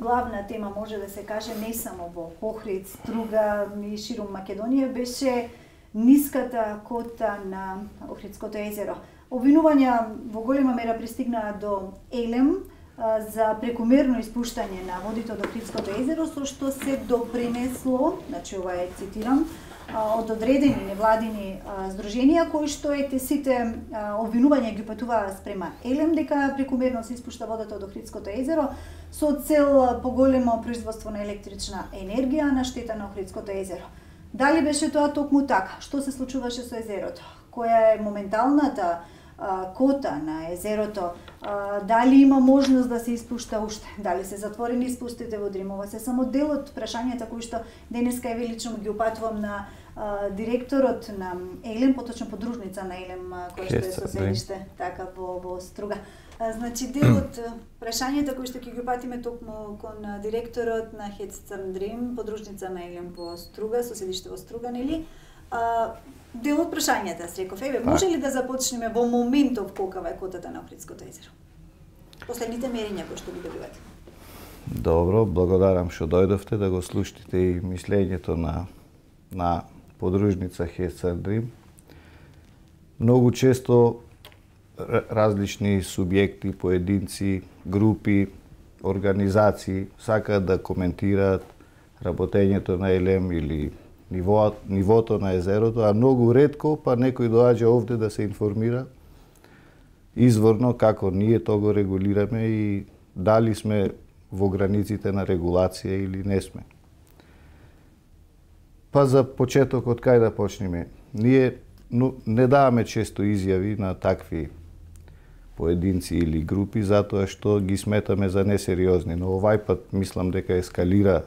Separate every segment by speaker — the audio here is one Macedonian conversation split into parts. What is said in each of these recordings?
Speaker 1: главна тема, може да се каже, не само во Охрид, Струга и ширум Македонија, беше ниската кота на Охридското езеро. Обвинувања во голема мера пристигнаа до Елем за прекомерно испуштање на водите од Охридското езеро, со што се допринесло, значи ова е цитирам, од одредени невладини здруженија кои што сите обвинувања ги упатуваа спрема Елем дека прекомерно се испушта водата од Охридското езеро со цел поголемо производство на електрична енергија на штета на Охридското езеро. Дали беше тоа токму така? Што се случуваше со езерото? Која е моменталната кота на езерото? Дали има можност да се испушта уште? Дали се затворени испустите во Дрим? Ова се само дел од прашањата кои што денеска е велично ги упатувам на директорот на Елем, поточно подружница на Елем, која што е со седиште така во Струга. Значи, дел од прашањата кои што ќе ги упатиме токму кон директорот на Хец Црн Дрим, подружница на Елем во Струга, со седиште во Струга, нели? Дел од прашањата, реков, може ли да започнеме во моментов колкава е котата на Охридското езеро? Последните мерења кои што ги добивате.
Speaker 2: Добро, благодарам што дојдовте да го слушате и мислењето на подружница Хец Црн Дрим. Многу често различни субјекти, поединци, групи, организации сакаат да коментираат работењето на Елем или нивото на езерото, а многу ретко па некој доаѓа овде да се информира изворно како ние тоа го регулираме и дали сме во границите на регулација или не сме. Па за почеток од кај да почнеме? Ние не даваме често изјави на такви поединци или групи затоа што ги сметаме за несериозни, но овај пат мислам дека ескалира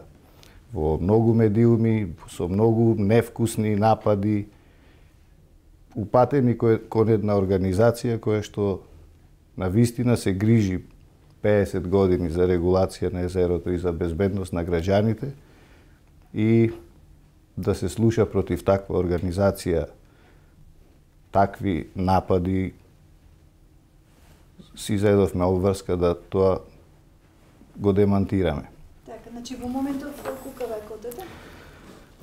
Speaker 2: во многу медиуми, со многу невкусни напади, упатени кон една организација која што навистина се грижи 50 години за регулација на езерото и за безбедност на граѓаните, и да се слуша против таква организација такви напади, си заедовме обврска да тоа го демантираме.
Speaker 1: Значи, во моментов, колкава е котата?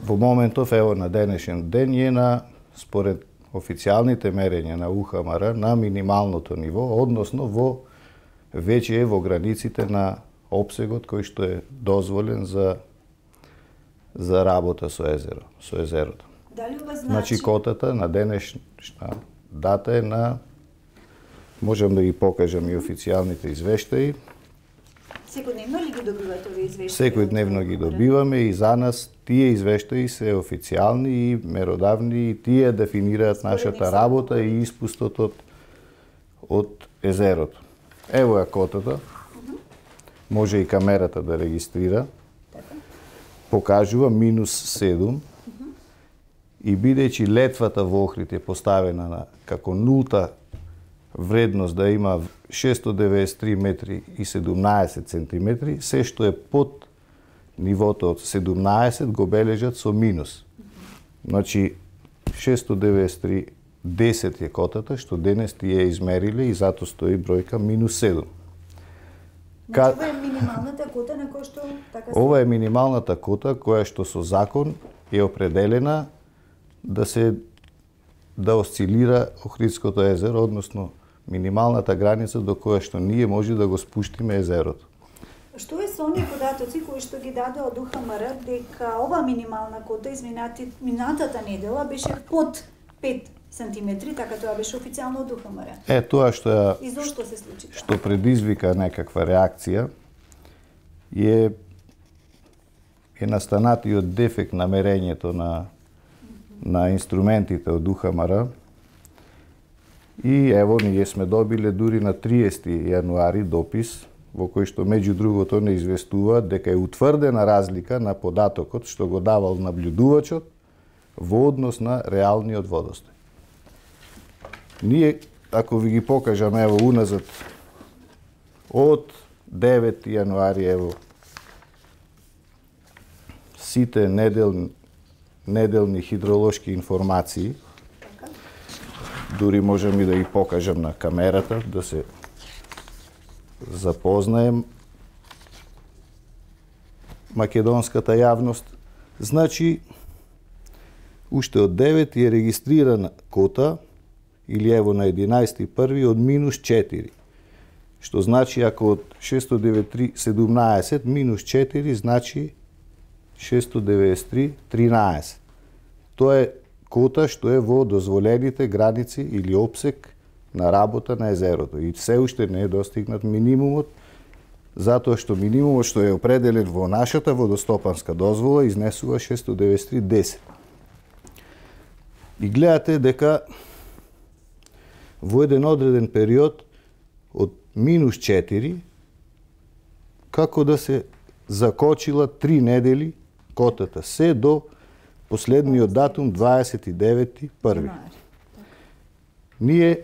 Speaker 2: Во моментов, ево, на денешен ден е според официјалните мерења на УХМР, на минималното ниво, односно веќе е во границите на опсегот кој што е дозволен за работа со езерото.
Speaker 1: Дали ова
Speaker 2: значи котата на денешна дата е можам да ги покажам и официјалните извештаи.
Speaker 1: Секојдневно ли ги добивате овие извештаи?
Speaker 2: Секојдневно ги добиваме и за нас тие извештаи се официјални и меродавни и тие дефинираат нашата работа и испустот од езерото. Ево е котата. Може и камерата да регистрира. Покажува -7. И бидејќи летвата во Охрид е поставена како нулта вредност да има 693 метри и 17 сантиметри, се што е под нивото од 17 го бележат со минус. Значи 693 10 е котата што денес тие измериле и затоа стои бројка -7.
Speaker 1: Значи ова е минималната кота на која што така се...
Speaker 2: Ова е минималната кота која што со закон е определена да осцилира Охридското езеро, односно минималната граница до која што ние може да го спуштиме езерото.
Speaker 1: Што е со оние податоци кои што ги даде од УХМР дека ова минимална кота минатата недела беше под 5 сантиметри, така тоа беше официјално од УХМР.
Speaker 2: Тоа што
Speaker 1: и зошто се случи тоа?
Speaker 2: Што предизвика некаква реакција е настанатиот дефект на мерењето на инструментите од УХМР. И ево, ние сме добиле дури на 30 јануари допис во кој што меѓу другото не известува дека е утврдена разлика на податокот што го давал наблюдувачот во однос на реалниот водостој. Ние, ако ви ги покажам, ево, уназад, од 9 јануари, ево, сите неделни хидролошки информации, дури можем и да ги покажам на камерата, да се запознаем. македонската јавност. Значи, уште од 9 е регистрирана кота, или ево на 11.1. од минус 4. Што значи, ако од 693.17 минус 4, значи 693.13. Тоа е кота што е во дозволените граници или опсек на работа на езерото. И се уште не е достигнат минимумот, затоа што минимумот што е определен во нашата водостопанска дозвола изнесува 693.10. И гледате дека во еден одреден период од минус 4, како да се закочила 3 недели котата, се до последниот датум 29.1. Ние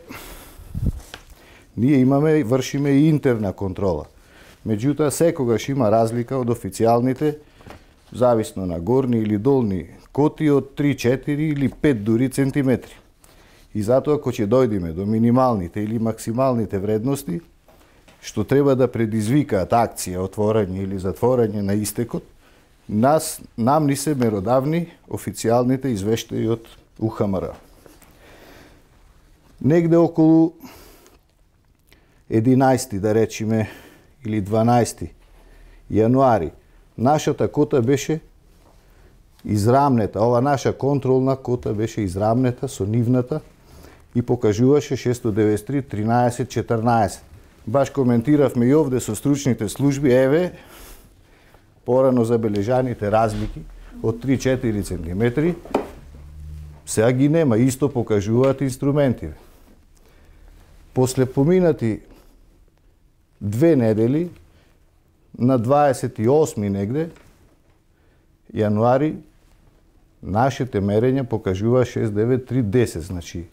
Speaker 2: имаме, вршиме и интерна контрола. Меѓутоа, секогаш има разлика од официјалните, зависно на горни или долни коти, од 3, 4 или 5 дури центиметри. И затоа, ако ќе дојдеме до минималните или максималните вредности, што треба да предизвикаат акција, отворање или затворање на истекот, нам ни се меродавни официјалните извештаи од УХМР. Негде околу 11, да речеме, или 12 јануари, нашата кота беше израмнета, ова наша контролна кота беше израмнета со нивната и покажуваше 693.13.14. Баш коментиравме и овде со стручните служби, еве, порано забележаните разлики од 3-4 центиметри, сега ги нема, исто покажуваат инструменти. После поминати 2 недели, на 28 негде, јануари, нашите мерења покажува 693.10, значи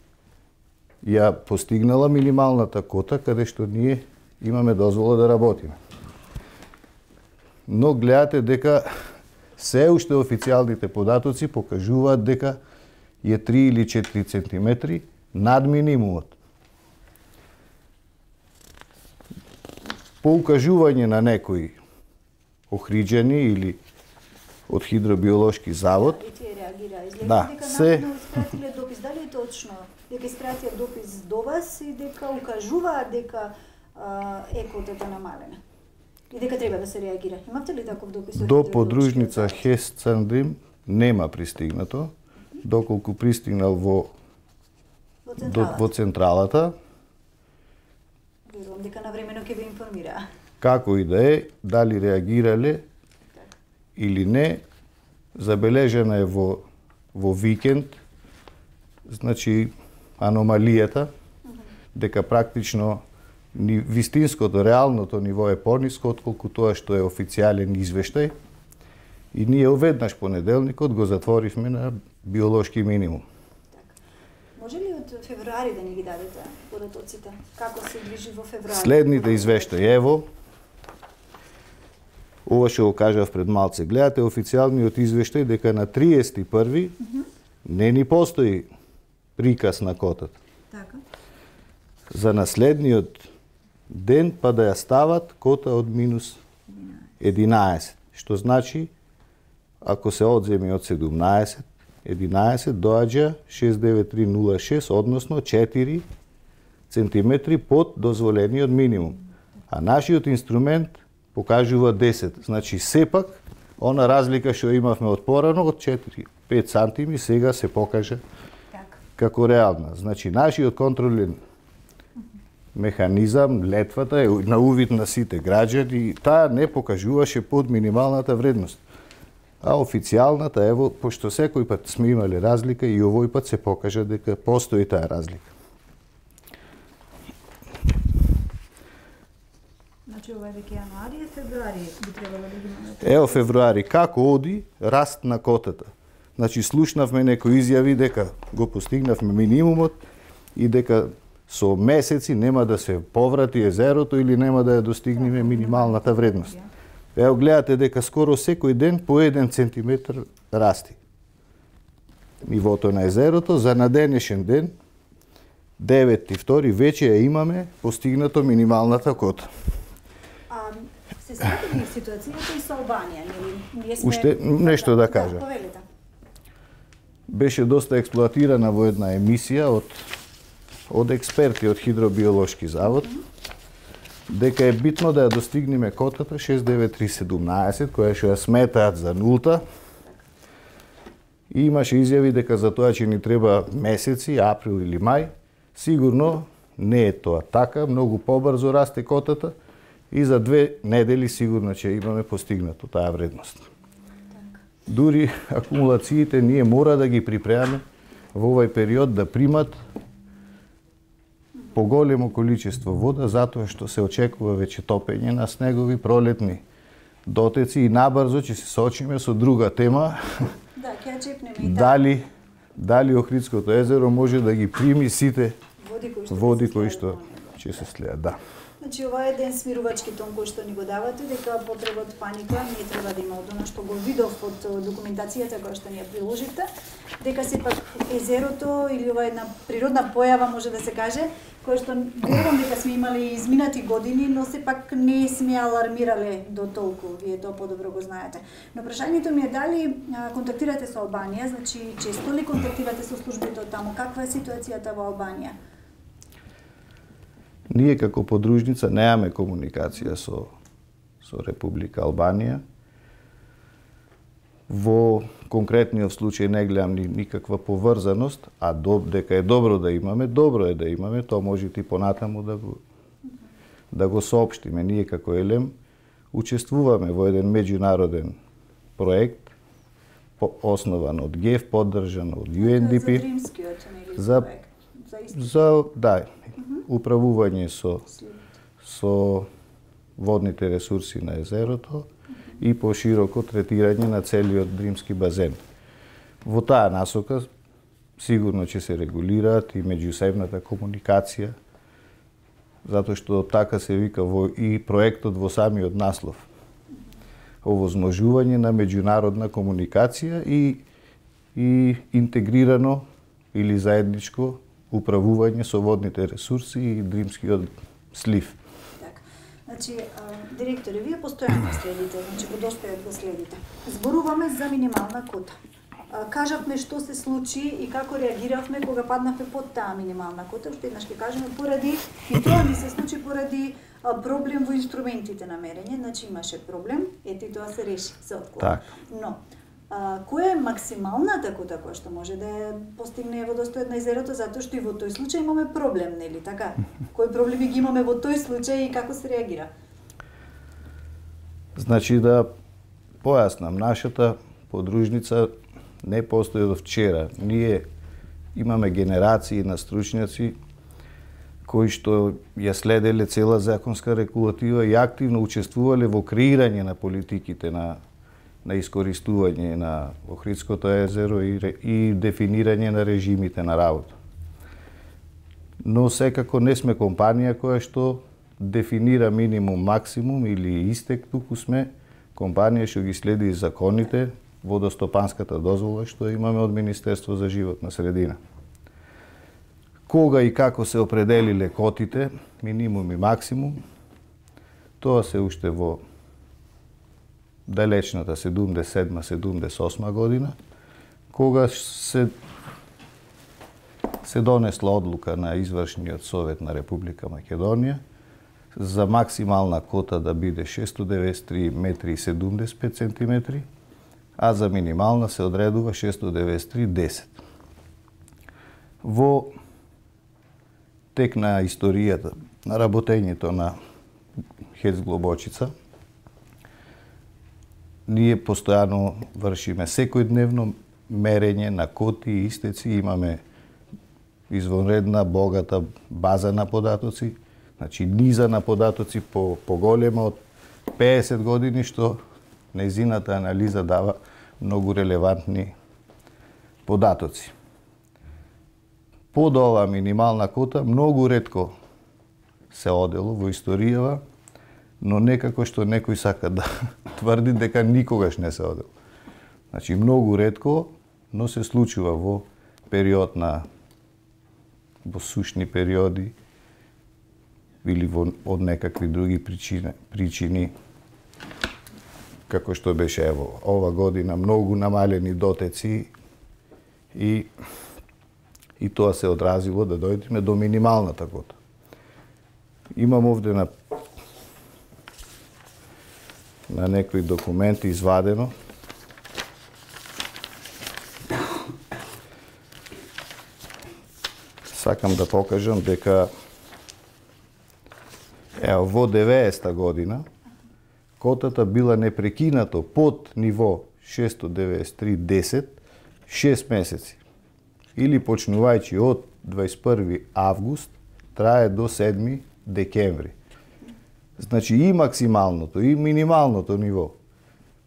Speaker 2: ја постигнала минималната кота каде што ние имаме дозвола да работиме. Но гледате дека се уште официјалните податоци покажуваат дека е 3 или 4 центиметри над минимумот. По укажување на некои охриџани или од Хидробиолошки завод.
Speaker 1: Да, се испратиле допис, дали е точно дека испратија допис до вас и дека укажуваат дека котата намалена? И дека треба да се реагира. Имавте ли таков допис?
Speaker 2: До подружница Хес Цандрим нема пристигнато, доколку пристигнал во централата.
Speaker 1: Верувам дека навремено ќе ви информира.
Speaker 2: Како и да е, дали реагирале или не, забележена е во викенд, значи аномалијата, дека практично вистинското, реалното ниво е пониско отколку тоа што е официјален извештај. И ние веднаш понеделникот го затворивме на биолошки минимум.
Speaker 1: Може ли од февруари да ни ги дадете податоците? Како се движи во февруари?
Speaker 2: Следните извештаи, ево, ова што го кажав пред малце. Гледате официјалниот извештај дека на 31. Не ни постои приказ на котата.
Speaker 1: Така.
Speaker 2: За наследниот ден па да ја стават кота од минус 11. Што значи, ако се одземи од 17, 11 доаѓа 69306, односно 4 центиметри под дозволениот минимум. А нашиот инструмент покажува 10. Значи, сепак, она разлика што имавме од порано, од 4-5 сантими, сега се покажа како реална. Значи, нашиот контролен механизам, летвата е на увид на сите граѓани, таа не покажуваше под минималната вредност. А официјалната, ево, пошто секој пат сме имале разлика и овој пат се покажа дека постои таа разлика.
Speaker 1: Значи, ова е веќе јануари и февруари би требало да ги имаме.
Speaker 2: Ево февруари, како оди раст на котата? Значи, слушнавме некои изјави дека го постигнавме минимумот и дека со месеци нема да се поврати езерото или нема да ја достигнеме минималната вредност. Ево гледате дека скоро секој ден по 1 центиметр расти нивото на езерото. За на денешен ден, 9.2, веќе ја имаме постигнато минималната кота.
Speaker 1: Се сеќавате ли ситуацијата и со Албанија, нели? Ние сме
Speaker 2: Уште нешто да кажам.
Speaker 1: Повелете.
Speaker 2: Беше доста експлоатирана во една емисија од експерти од Хидробиолошки завод, дека е битно да ја достигнеме котата 69317, која што ја сметаат за нулта. И имаше изјави дека за тоа ќе ни треба месеци, април или мај. Сигурно не е тоа така, многу побрзо расте котата и за 2 недели сигурно ќе имаме постигнато таа вредност. Дури акумулациите ние мора да ги припремаме во овој период да примат поголемо количество вода, затоа што се очекува веќе топење на снегови пролетни дотеци и набрзо ќе се соочиме со друга тема.
Speaker 1: Да, ќе ја чепнеме и
Speaker 2: дали Охридското езеро може да ги прими сите води кои што ќе се слеат, да.
Speaker 1: Значи, ова е еден смирувачки тон кој што ни го давате, дека потреба од паника не треба да има од она што го видов од документацијата која што ни ја приложите, дека сепак езерото или ова една природна појава може да се каже, која што верувам дека сме имали изминати години, но сепак не сме алармирале до толку, вие тоа подобро го знаете. Но прашањето ми е дали контактирате со Албанија, значи често ли контактирате со службите од таму, каква е ситуацијата во Албанија?
Speaker 2: Ние како подружница немаме комуникација со Република Албанија. Во конкретниот случај не гледам никаква поврзаност, а дека е добро да имаме, тоа може и понатаму да го соопштиме. Ние како ЕЛЕМ учествуваме во еден меѓународен проект основан од ГЕФ, поддржан од UNDP.
Speaker 1: За Дримскиот, нели, проект?
Speaker 2: Управување со водните ресурси на езерото и пошироко третирање на целиот Дримски базен. Во таа насока сигурно ќе се регулираат и меѓусебната комуникација, затоа што така се вика и проектот во самиот наслов. Овозможување на меѓународна комуникација и интегрирано или заедничко управување со водните ресурси и Дримскиот слив.
Speaker 1: Така. Значи, директоре, вие постојано следите, значи го достојат го следите. Зборуваме за минимална кота. Кажавме што се случи и како реагиравме кога паднавме под таа минимална кота. Уште еднаш ќе кажеме поради, и тоа ни се случи поради проблем во инструментите на мерење. Значи имаше проблем, ето и тоа се реши, се отклони. Но, која е максималната кота која што може да ја постигне водостојот на езерото, затоа што и во тој случај имаме проблем, нели така? Кои проблеми ги имаме во тој случај и како се реагира?
Speaker 2: Значи да појаснам, нашата подружница не постои од вчера. Ние имаме генерации на стручњаци кои што ја следеле цела законска регулатива и активно учествувале во креирање на политиките на искористување на Охридското езеро и дефинирање на режимите на работа. Но секако не сме компанија која што дефинира минимум, максимум или истек, туку сме компанија што ги следи законите, водостопанската дозвола што имаме од Министерство за животна средина. Кога и како се определиле котите, минимум и максимум, тоа се уште во далечната 77-78 година, кога се донесла одлука на Извршниот совет на Република Македонија за максимална кота да биде 693 метри и 75 сантиметри, а за минимална се одредува 693,10. Во тек на историјата на работењето на ХЕЦ Глобочица, ние постојано вршиме секојдневно мерење на коти и истеци, имаме извонредна, богата база на податоци, значи низа на податоци поголема од 50 години, што нејзината анализа дава многу релевантни податоци. Под оваа минимална кота многу ретко се одело во историјава, но некако што некој сака да тврди дека никогаш не се одело. Значи многу ретко, но се случува во период во сушни периоди или од некакви други причини како што беше ево ова година многу намалени дотеци и тоа се одразило да дојдеме до минималната кота. Имам овде на некои документи извадено. Сакам да покажам дека ево во 90-та година котата била непрекинато под ниво 693.10 6 месеци. Или почнувајќи од 21 август трае до 7 декември. Значи и максималното и минималното ниво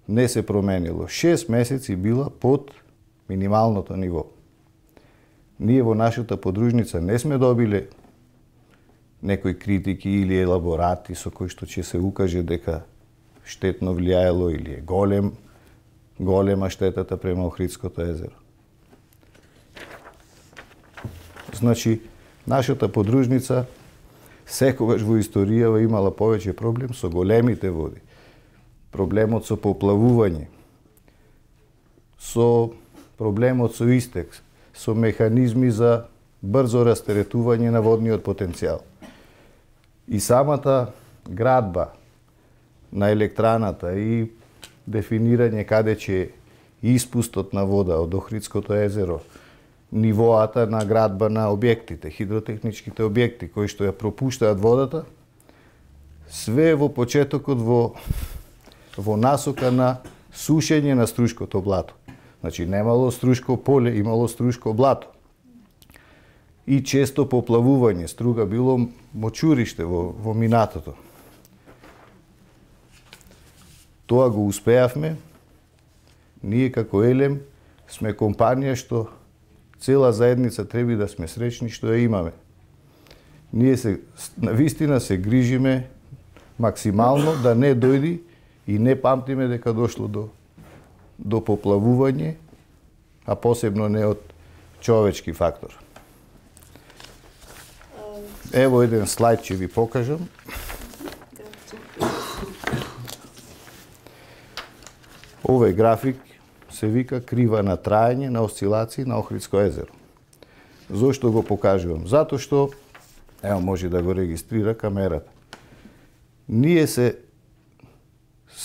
Speaker 2: не се променило. 6 месеци била под минималното ниво. Ние во нашата подружница не сме добиле некои критики или елаборати со кои што ќе се укаже дека штетно влијаело или е голема штетата према Охридското езеро. Значи, нашата подружница секогаш во историјава имала повеќе проблем со големите води. Проблемот со поплавување, со проблемот со истек, со механизми за брзо растеретување на водниот потенцијал. И самата градба на електраната и дефинирање каде ќе испустот на вода од Охридското езеро, нивоата на градба на објектите, хидротехничките објекти кои што ја пропуштаат водата, све во почетокот во насока на сушење на струшкото блато. Значи немало струшко поле, имало струшко блато. И често поплавување, Струга било мочуриште во минатото. Тоа го успеавме. Ние како Елем сме компанија што цела заедница треба да сме среќни што ја имаме. Ние навистина се грижиме максимално да не дојди и не памтиме дека дошло до поплавување, а посебно не од човечки фактор. Ево еден слайд ќе ви покажам. Овој график се вика крива на траење на осцилации на Охридско езеро. Зошто го покажувам? Затоа што, ево може да го регистрира камерата. Ние се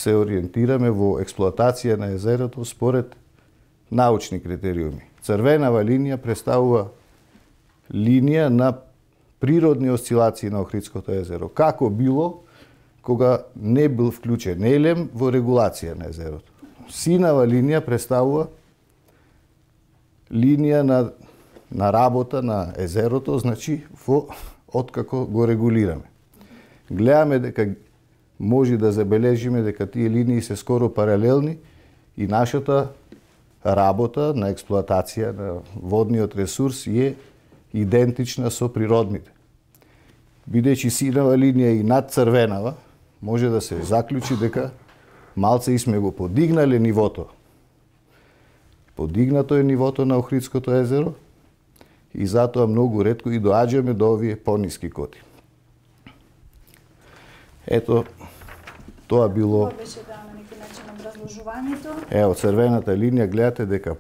Speaker 2: ориентираме во експлоатација на езерото според научни критериуми. Црвенава линија представува линија на природни осцилации на Охридското езеро. Како било кога не бил вклучен Елем во регулација на езерото. Синава линија представува линија на работа на езерото, значи откако го регулираме. Гледаме дека може да забележиме дека тие линии се скоро паралелни и нашата работа на експлоатација на водниот ресурс е идентична со природните. Бидејќи синава линија и над црвенава, може да се заклучи дека малце и сме го подигнале нивото. Подигнато е нивото на Охридското езеро и затоа многу ретко и доаѓаме до овие пониски коти. Ето, тоа било...
Speaker 1: Тоа беше на некој начин образложувањето.
Speaker 2: Ево, црвената линија, гледате дека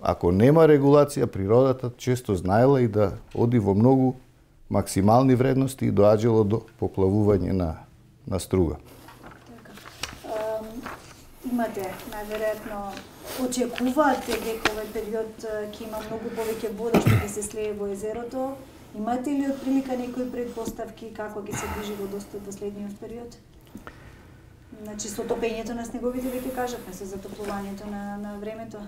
Speaker 2: ако нема регулација, природата често знаела и да оди во многу максимални вредности и доаѓало до поплавување на Струга.
Speaker 1: Имате, најверојатно, очекувате дека овој период ќе има многу повеќе вода што ќе се слее во езерото. Имате ли отприлика некои предпоставки како ќе се движи водостојот во следниот период? Значи, со топењето на снеговите веќе кажавме, со затоплувањето на времето.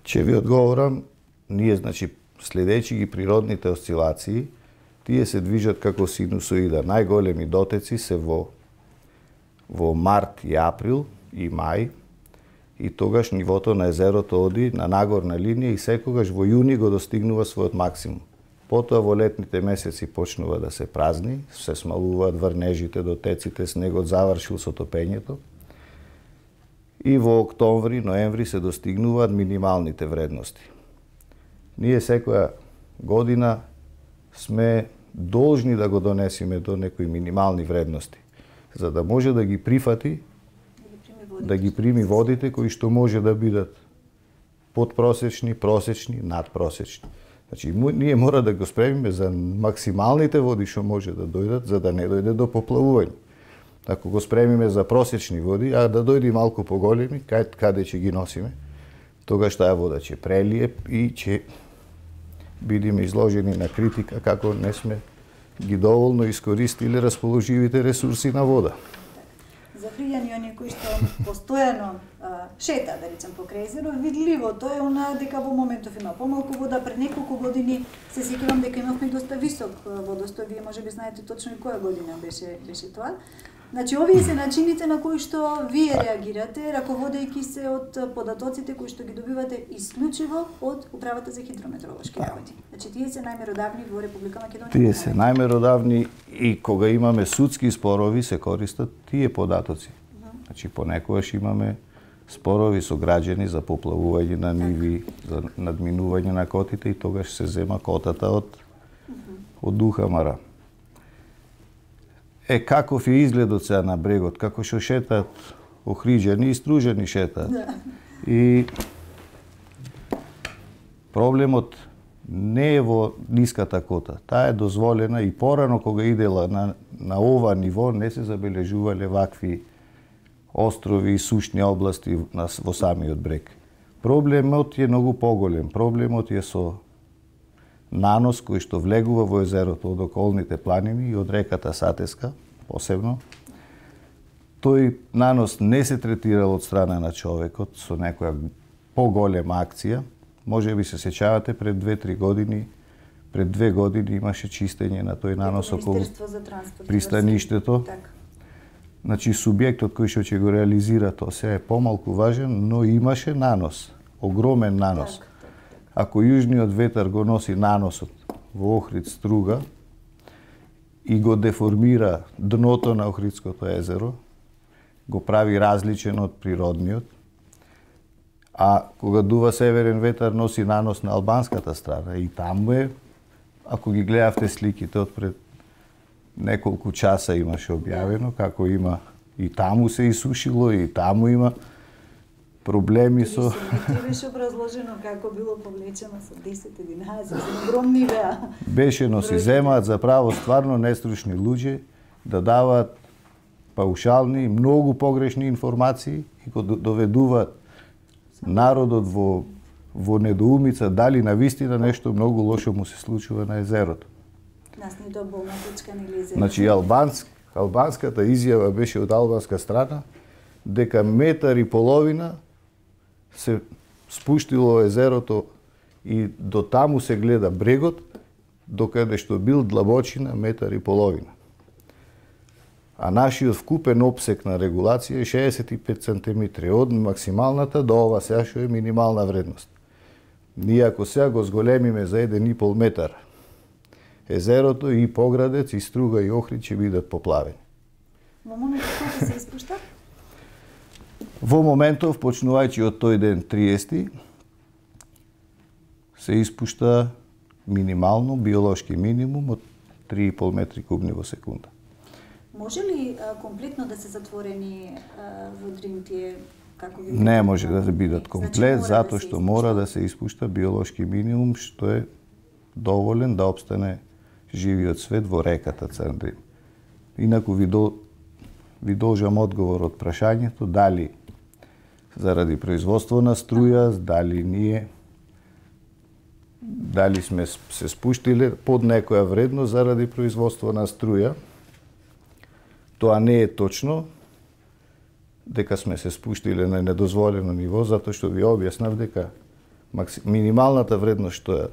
Speaker 2: Ќе ви одговорам, ние, значи, следејќи ги природните осцилации, тие се движат како синусоида. Најголеми дотеци се во март и април и мај, и тогаш нивото на езерото оди на нагорна линија и секогаш во јуни го достигнува својот максимум. Потоа во летните месеци почнува да се празни, се смалуваат врнежите, дотеците, снегот завршил со топењето. И во октомври, ноември се достигнуваат минималните вредности. Ние секоја година сме должни да го донесеме до некои минимални вредности, за да може да ги прифати да ги прими водите кои што може да бидат подпросечни, просечни, надпросечни. Значи, ние мора да го спремиме за максималните води што може да дојдат, за да не дојде до поплавување. Ако го спремиме за просечни води, а да дојде малку поголеми, каде ќе ги носиме, тогаш таа вода ќе прелие и ќе бидеме изложени на критика како не сме ги доволно искористиле расположивите ресурси на вода.
Speaker 1: За фријани оние кои што постојано шета, да речем, покрај езеро, видливото е она дека во моментов има помалку вода. Пред неколку години се сеќавам дека имавме доста висок водостој. Вие можеби знаете точно и која година беше тоа. Значи, овие се начините на кои што вие реагирате, раководејќи се од податоците кои што ги добивате исклучиво од Управата за хидрометеоролошки работи. Значи, тие се најмеродавни во Република Македонија.
Speaker 2: Тие се најмеродавни и кога имаме судски спорови се користат тие податоци. Значи, понекогаш имаме спорови со граѓани за поплавување на ниви, за надминување на котите и тогаш се зема котата од УХМР. Каков е изгледот сега на брегот, како што шетаат охриđани и стружени шетаат. И проблемот не е во ниската кота. Таа е дозволена и порано кога идела на ова ниво не се забележувале вакви острови и сушни области во самиот брег. Проблемот е многу поголем. Проблемот е со нанос кој што влегува во езерото од околните планини и од реката Сатеска, посебно. Тој нанос не се третирал од страна на човекот со некоја поголема акција. Може би се сеќавате пред 2-3 години, пред 2 години имаше чистење на тој нанос околу пристаништето. Значи, субјектот кој што ќе го реализира тоа се е помалку важен, но имаше нанос, огромен нанос. Ако јужниот ветар го носи наносот во Охрид Струга и го деформира дното на Охридското езеро, го прави различен од природниот, а кога дува северен ветар носи нанос на албанската страна и таму е, ако ги гледавте сликите од пред неколку часа имаше објавено како има и таму се исушило и таму има проблеми со...
Speaker 1: Беше образложено како било повлечено со 10-11, огромни беа.
Speaker 2: Беше, но си земаат за право стварно нестручни луѓе да даваат паушални, многу погрешни информации и го доведуваат народот во недоумица дали навистина нешто многу лошо му се случува на езерото.
Speaker 1: Нас не тоа болна точка на езерото.
Speaker 2: Значи, албанската изјава беше од албанска страна дека 1,5 метри се спуштило езерото и до таму се гледа брегот, докаде што бил длабочина 1,5 метри. А нашиот вкупен опсек на регулација е 65 сантиметри, од максималната до ова сега што е минимална вредност. Ние ако сега го зголемиме за 1,5 метар, езерото и Поградец, и Струга, и Охрид ќе бидат поплавени.
Speaker 1: Во моментот колку се испушта?
Speaker 2: Во моментов, почнувајќи од тој ден 30, се испушта минимално, биолошки минимум од 3,5 метри кубни во секунда.
Speaker 1: Може ли комплетно да се затворени во Дрин тие како ви?
Speaker 2: Не може да бидат комплет, затоа што мора да се испушта биолошки минимум, што е доволен да опстане живиот свет во реката Црн Дрин. Инаку ви должам одговор од прашањето дали заради производство на струја, дали сме се спуштиле под некоја вредност заради производство на струја. Тоа не е точно дека сме се спуштиле на недозволено ниво, затоа што ви објаснав дека минималната вредност што ја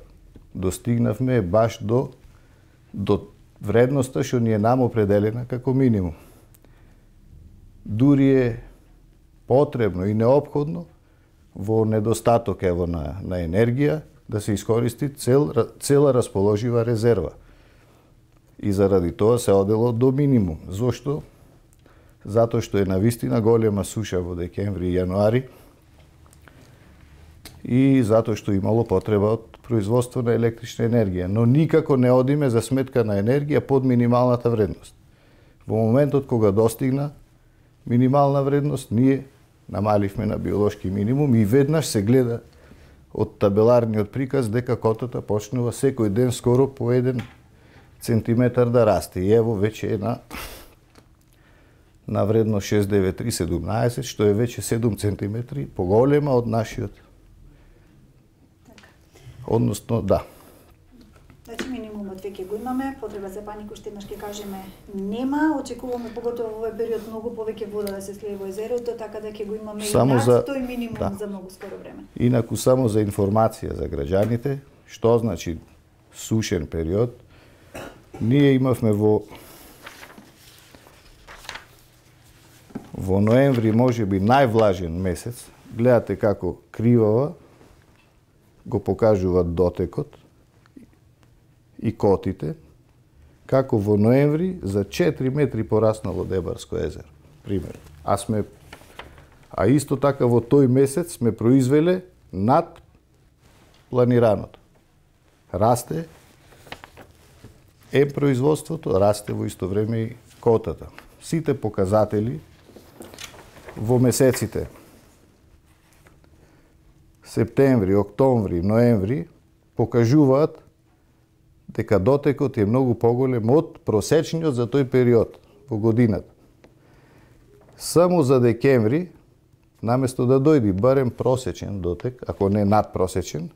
Speaker 2: достигнавме е баш до вредноста што ни е нам определена како минимум. Дури е потребно и неопходно во недостаток на енергија да се искористи цела расположива резерва. И заради тоа се одело до минимум. Зошто? Затоа што е навистина голема суша во декември и јануари и затоа што имало потреба од производство на електрична енергија. Но никако не одиме за сметка на енергија под минималната вредност. Во моментот кога достигна минимална вредност, ние намаливме на биолошки минимум и веднаш се гледа од табеларниот приказ дека котата почнува секој ден скоро по 1 центиметар да расте. И ево веќе е на вредност 69317, што е веќе 7 центиметри поголема од нашиот. Односно, да.
Speaker 1: Значи минимумот веќе го имаме, потреба за панику уште еднаш ќе кажеме нема, очекуваме поготово во овој период многу повеќе вода да се слее во езерото, така да ќе го имаме само и над тој минимум за многу скоро време.
Speaker 2: Инаку само за информација за граѓаните, што значи сушен период, ние имавме во ноември можеби највлажен месец. Гледате како кривава го покажуваат дотекот и котите, како во ноември за 4 метри пораснало Дебарско езеро, пример. А исто така во тој месец сме произвеле над планираното. Расте производството, расте во исто време и котата. Сите показатели во месеците септември, октомври, ноември покажуваат дека дотекот е многу поголем од просечниот за тој период во годината. Само за декември, наместо да дојде барем просечен дотек, ако не надпросечен,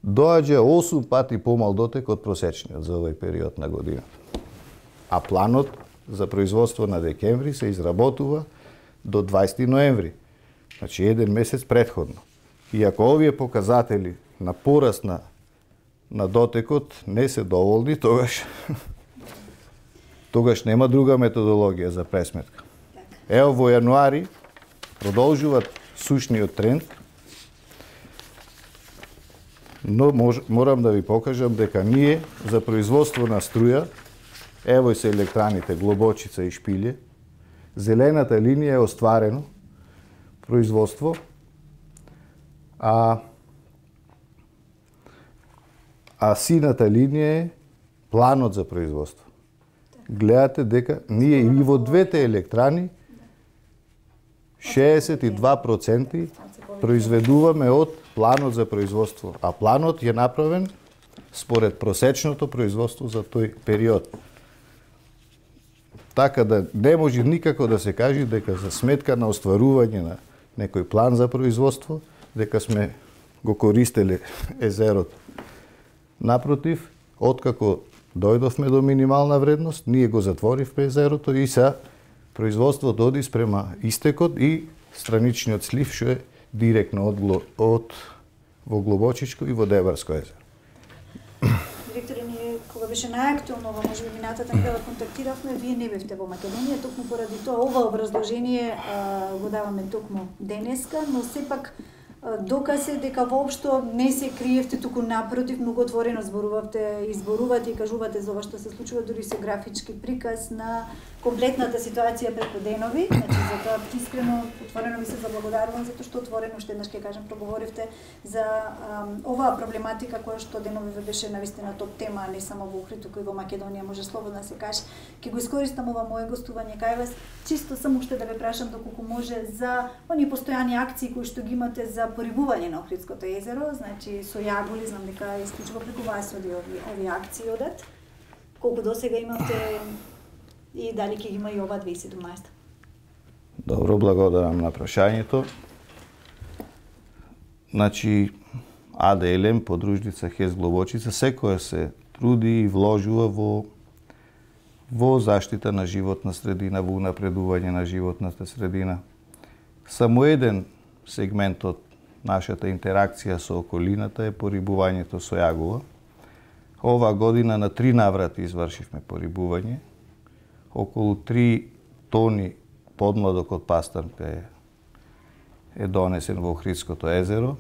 Speaker 2: доаѓа 8 пати помал дотек од просечниот за овој период на годината. А планот за производство на декември се изработува до 20 ноември, значи 1 месец предходно. И ако овие показатели на пораст на дотекот не се доволни, тогаш нема друга методологија за пресметка. Ево во јануари продолжуваат сушниот тренд, но морам да ви покажам дека ние за производство на струја, ево се електраните Глобочица и Шпилје, зелената линија е остварено производство, а сината линија е планот за производство. Гледате дека ние и во двете електрани 62% произведуваме од планот за производство, а планот е направен според просечното производство за тој период. Така да не може никако да се каже дека за сметка на остварување на некој план за производство, дека сме го користеле езерото. Напротив, откако дојдовме до минимална вредност, ние го затворивме езерото и са производството оди спрема истекот и страничниот слив што е директно од во Глобочичко и во Дебарско езеро.
Speaker 1: Директоре, ние кога беше најактуелно, може би минатата недела контактиравме, вие не бевте во Македонија, токму поради тоа ова образложение го даваме токму денеска, но сепак доказ е дека воопшто не се криевте, туку напротив, многу отворено изборувате и кажувате за ова што се случува, дури се графички приказ на комплетната ситуација преку денови. Значи, за тоа искрено, отворено ви се заблагодарувам, затоа што отворено, уште еднаш ќе кажем, проговоривте за оваа проблематика која што денови ве беше навистина топ тема, не само во Охрид, туку и во Македонија, може слободно да се каже. Ќе го искористам ова мое гостување кај вас, чисто само уште да ве прашам доколку може за оние постојани акции кои што ги имате за порибување на Охридското езеро, значи со јаголи, знам дека исклучува преку вас овие акции одат. Колку досега имате и дали ќе има и ова 2017?
Speaker 2: Добро, благодарам на прашањето. Значи, АДЛМ, подружница ХЕС Глобочица, секоја се труди и вложува во заштита на животна средина, во унапредување на животната средина. Само еден сегмент од нашата интеракција со околината е порибувањето со јагула. Оваа година на 3 наврати извршивме порибување. Околу 3 тони подмладок од пастарка е донесен во Охридското езеро,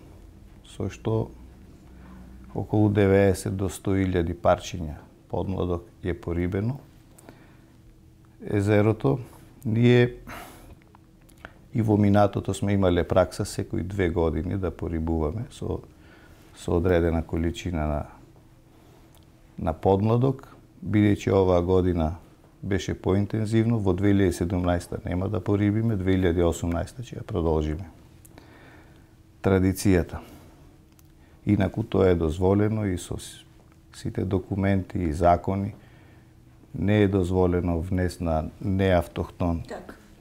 Speaker 2: со што околу 90 до 100.000 парчиња подмладок е порибено. Езерото, ние и во минатото сме имале пракса секои 2 години да порибуваме со одредена количина на подмладок, бидејќи оваа година беше поинтензивно, во 2017 нема да порибиме, 2018 ќе ја продолжиме. Традицијата. Инаку тоа е дозволено и со сите документи и закони. Не е дозволено внес на неавтохтон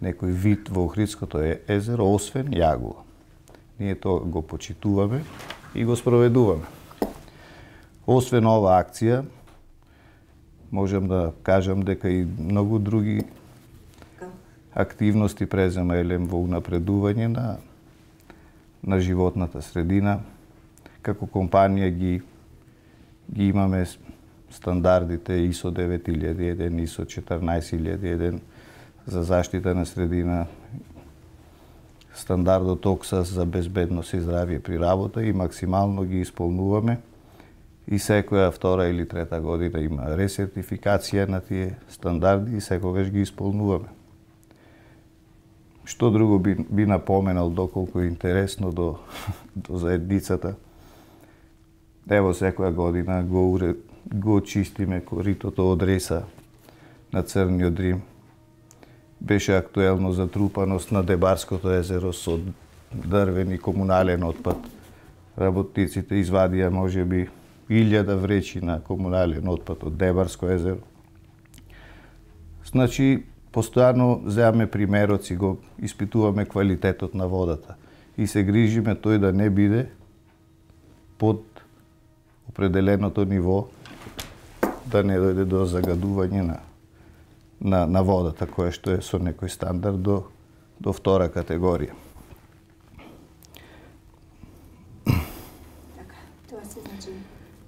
Speaker 2: некој вид во Охридското езеро, освен јагула. Ние тоа го почитуваме и го спроведуваме. Освен оваа акција, можам да кажам дека и многу други активности презема Елем во унапредување на животната средина. Како компанија ги имаме стандардите ISO 9001, ISO 14001 за заштита на средина, стандардот ОКСАС за безбедност и здравје при работа и максимално ги исполнуваме. И секоја втора или трета година има ресертификација на тие стандарди и секогаш ги исполнуваме. Што друго би напоменал доколку е интересно до заедницата? Ево секоја година го очистиме коритото од реса на Црниот Рим. Беше актуелно затрупаност на Дебарското езеро со дрвен и комунален отпад. Работниците извадија можеби 1000 вречи на комунален отпад од Дебарско езеро. Значи, постојано земаме примерот и го испитуваме квалитетот на водата и се грижиме тој да не биде под определеното ниво, да не дојде до загадување на водата, која што е со некој стандард до втора категорија.
Speaker 1: Така, тоа се значи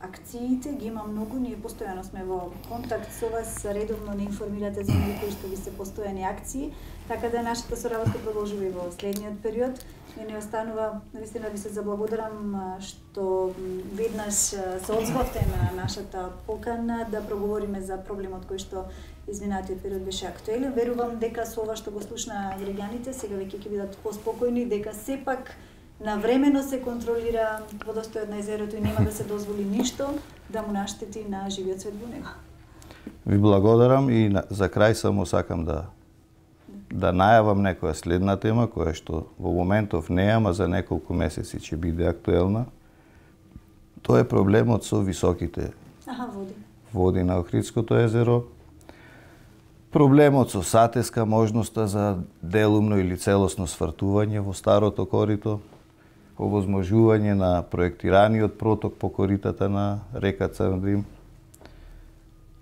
Speaker 1: акциите ги има многу, ние постојано сме во контакт со вас, редовно не информирате за оние кои што ви се постојани акции, така да нашата соработка продолжува и во следниот период. Мене останува навистина ви се заблагодарам што веднаш се одзвавте на нашата покана да проговориме за проблемот кој што изминатиот период беше актуелен. Верувам дека со ова што го слушна граѓаните сега веќе ќе бидат поспокојни, дека сепак навремено се контролира водостојот на езерото и нема да се дозволи ништо да му наштети на живиот свет во него.
Speaker 2: Ви благодарам и за крај само сакам да најавам некоја следна тема која што во моментов не е, ама за неколку месеци ќе биде актуелна. Тоа е проблемот со високите води на Охридското езеро. Проблемот со сатеска, можноста за делумно или целосно свртување во старото корито, овозможување на проектираниот проток по коритата на река Црн Рим,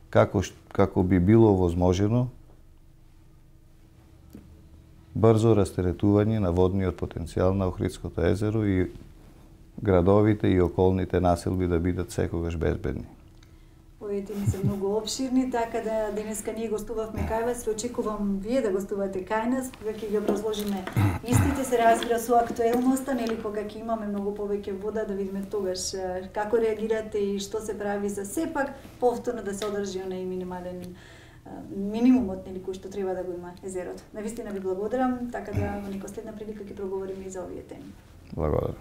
Speaker 2: како би било возможено брзо растеретување на водниот потенцијал на Охридското езеро и градовите и околните населби да бидат секогаш безбедни.
Speaker 1: Овие теми се многу обширни, така да денеска ние гостувавме кај вас, очекувам вие да гостувате кај нас, кога ќе ги образложиме истите, се разбира со актуелноста, нели кога ќе имаме многу повеќе вода, да видиме тогаш како реагирате и што се прави за сепак повторно да се одржи онај минимумот нели кој што треба да го има езерото. Навистина ви благодарам, така да во некоја следна прилика ќе проговориме и за овие теми.
Speaker 2: Благодарам.